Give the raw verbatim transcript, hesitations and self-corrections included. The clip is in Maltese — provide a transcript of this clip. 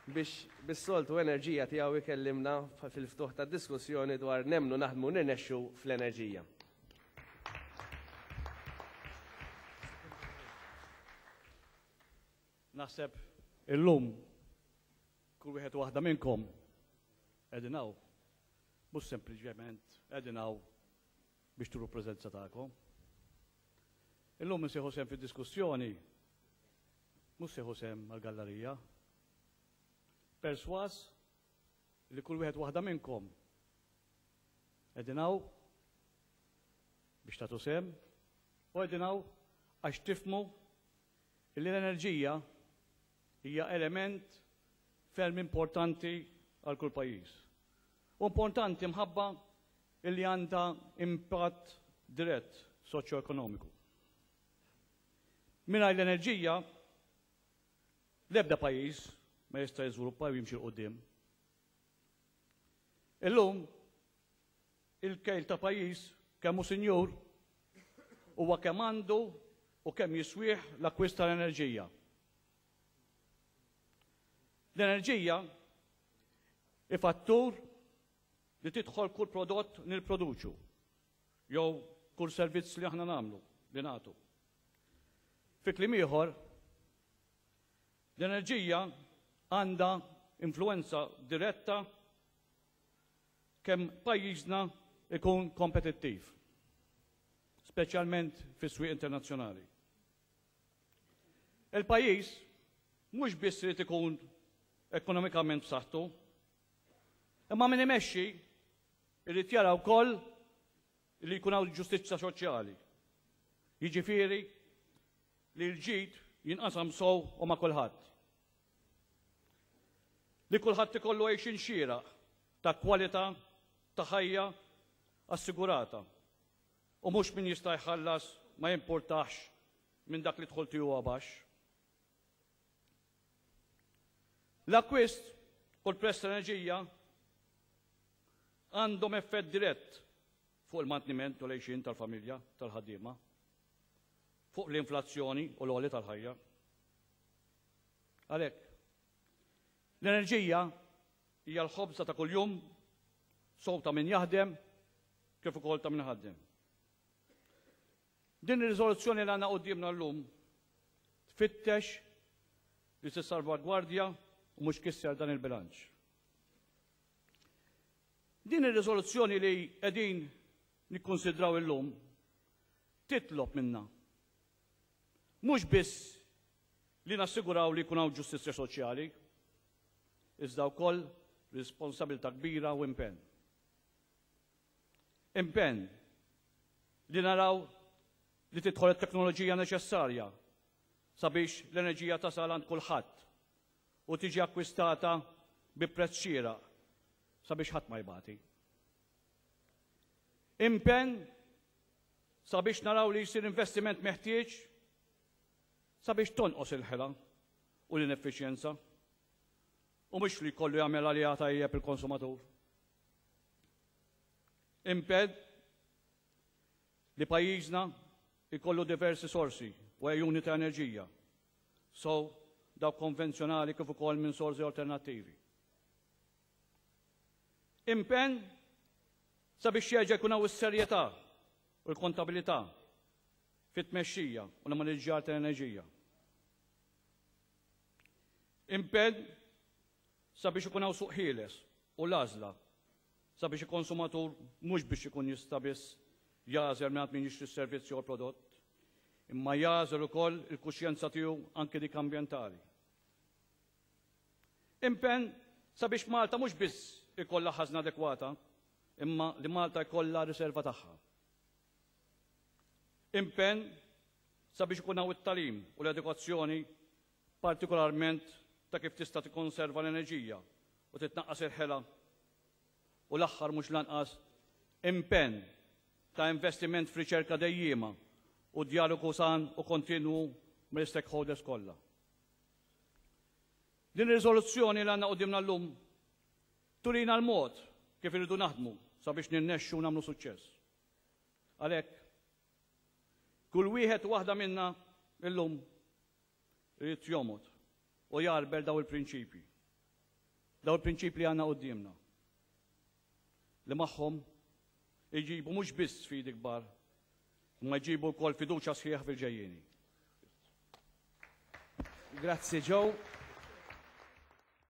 Biex bis-soltu enerġija tiegħu jkellimna fil-ftuħ tad-diskussjoni dwar nemmnu naħdmu nirnexxu fl-enerġija. Naħseb illum kull wieħed waħda minnkom qegħdin hawn, mhux sempliċement qegħdin hawn biex turu preżenza tagħkom. Illum insieħu sehem fid-diskussjoni, mhux sieħu sehem għall-gallerija. Perswas li kull wieħed waħda minnkom qegħdin hawn biex tagħtu sehem u qegħdin hawn għax tifhmu li l-enerġija hija element ferm importanti għal kull pajjiż. U importanti mħabba illi għandha impatt dirett soċjo-ekonomiku. Mingħajr l-enerġija, l-ebda pajjiż ma jista' jiżviluppa u jimxi 'l quddiem. Illum, il-kejl ta' pajjiż kemm hu sinjur huwa kemm għandu u kemm jiswih l-akkwist tal-enerġija. L-enerġija hi fattur li tidħol kull prodott nipproduċu jew kull servizz li aħna nagħmlu li nagħtu. Fi kliem ieħor, l-enerġija għandha influenza diretta kemm pajjiżna ikun kompetittiv, speċjalment fis-swieq internazzjonali. Il-pajjiż mhux biss irid ikun ekonomikament b'saħħtu, imma min imexxi irid jara wkoll li jkun hawn ġustizzja soċjali. Jiġifieri li l-ġid jinqasam sew u ma' kulħadd. Li kulħadd ikollu għejxin xieraq ta' kwalità ta' ħajja assigurata u mhux min jista' jħallas ma jimpurtax minn dak li dħul tiegħu baxx. L-akkwist u l-prezz tal-enerġija għandhom effett dirett fuq il-manteniment u l-għejxien tal-familja tal-ħaddiema, fuq l-inflazzjoni u l-għoli tal-ħajja. Għalhekk, l-enerġija hija l-ħobża ta' kuljum, sew ta' min jaħdem kif ukoll ta' min iħaddem. Din ir-riżoluzzjoni li għandna quddiemna llum tfittex li tissalvagwardja u mhux kisser dan il-bilanċ. Din ir-riżoluzzjoni li qegħdin nikkonsidraw illum titlob minna mhux biss li nassiguraw li jkun hawn ġustizzja soċjali, iżda wkoll responsabilità kbira u impenn. Impenn li naraw li tidħol it-teknoloġija neċessarja sabiex l-enerġija tasal għand kulħadd u tiġi akkwistata bi prezz xieraq sabiex ħadd ma jbati. Impenn sabiex naraw li jsir investiment meħtieġ sabiex tonqos il-ħela u l-ineffiċjenza u mhux li jkollu jagħmel għaliha tajjeb il-konsumatur. Impenn li pajjiżna jkollu diversi sorsi u għejuni ta' enerġija, so dawk konvenzjonali kif ukoll minn sorsi alternattivi. Impenn sabiex jerġa' jkun hawn is-serjetà u l-kontabilità fit-tmexxija u l-maniġġjar tal-enerġija. Impenn sabiex ikun hawn suq ħieles u l-għażla sabiex il-konsumatur mhux biex ikun jista' biss jagħżel mingħand min jixtri s-servizz jew il-prodott, imma jagħżel ukoll il-kuxjenza tiegħu anke dik ambjentali. Impenn sabiex Malta mhux biss ikollha ħażna adekwata, imma li Malta jkollha riserva tagħha. Impenn sabiex ikun hawn it-tagħlim u l-edukazzjoni partikolarment ta' kif tista' tikkonserva l-enerġija u titnaqqas il-ħela u l-aħħar mhux lanqas impenn ta' investiment f'riċerka dejjiema u djalogu san u kontinwu mill-stakeholders kollha. Din ir-riżoluzzjoni li għandna quddiemna llum turina l-mod kif irridu naħdmu sabiex nirnexxu u nagħmlu suċċess. Għalhekk, kull wieħed u waħda minna illum irid jomgħod u jgħarbel daw il-prinċipji. Daw il-prinċipji li għandna quddiemna li magħhom iġibu mhux biss sfidi kbar, imma jġibu wkoll fiduċja sħiħa fil-ġejjieni. Grazzi, Joe.